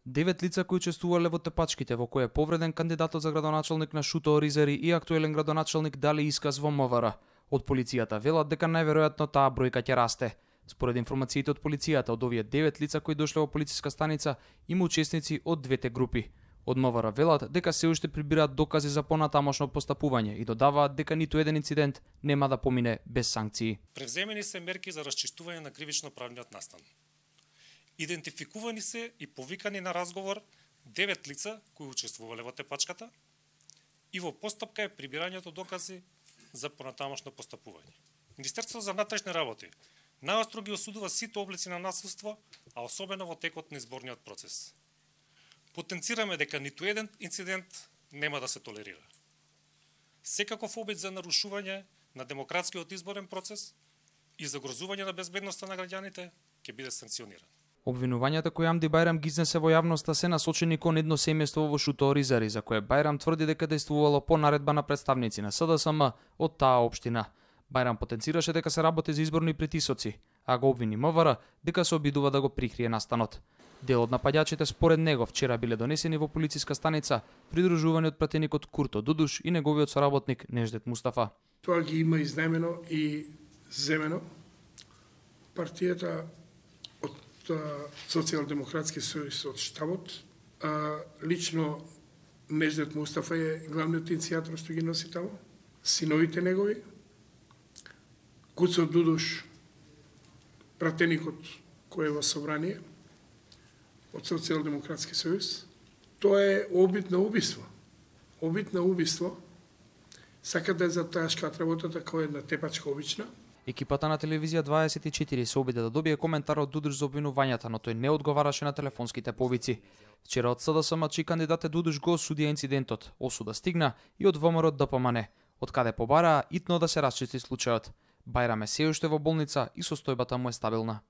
9 лица кои учествувале во тепачките во кои е повреден кандидатот за градоначалник на Шуто Оризари и актуелен градоначалник дали исказ во МВР. Од полицијата велат дека најверојатно таа бројка ќе расте. Според информациите од полицијата, од овие 9 лица кои дошле во полициска станица, има учесници од двете групи. Од МВР велат дека се уште прибираат докази за понатамошно постапување и додаваат дека ниту еден инцидент нема да помине без санкции. Превземени се мерки за расчистување на кривично-правниот настан. Идентификувани се и повикани на разговор 9 лица кои учествувале во тепачката и во постапка е прибирањето докази за понатамошно постапување. Министерството за внатрешни работи најостро ги осудува сите облици на насилство, а особено во текот на изборниот процес. Потенцираме дека ниту еден инцидент нема да се толерира. Секаков обид за нарушување на демократскиот изборен процес и загрозување на безбедноста на граѓаните ќе биде санкциониран. Обвинувањата кои Амди Бајрам ги изнесе во јавноста се насочени кон едно семејство во Шуто Оризари, за кое Бајрам тврди дека дејствувало по наредба на представници на СДСМ од таа општина. Бајрам потенцираше дека се работи за изборни притисоци, а го обвини МВР дека се обидува да го прикрие настанот. Дел од напаѓачите според него вчера биле донесени во полициска станица, придружувани од пратеникот Курто Дудуш и неговиот соработник Неждет Мустафа. Тоа ги има изнаемено и земено. Партијата од Социјалдемократски сојуз од штабот, лично Неждет Мустафа е главниот иницијатор што ги носи тамо, синовите негови, Куцо Дудуш, пратеникот кој е во собрание од Социјалдемократски сојуз. Тоа е обид на убиство. Обид на убиство. Сака да затаскаат работата која е една тепачка обична. Екипата на телевизија 24 се обиде да добие коментар од Дудуш за обвинувањата, но тој не одговараше на телефонските повици. Вчера од СДСМ чии кандидат Дудуш го осудија инцидентот. Осуда стигна и од ВМРО ДПМН, од каде побараа итно да се расчисти случајот. Бајрам е се уште во болница и состојбата му е стабилна.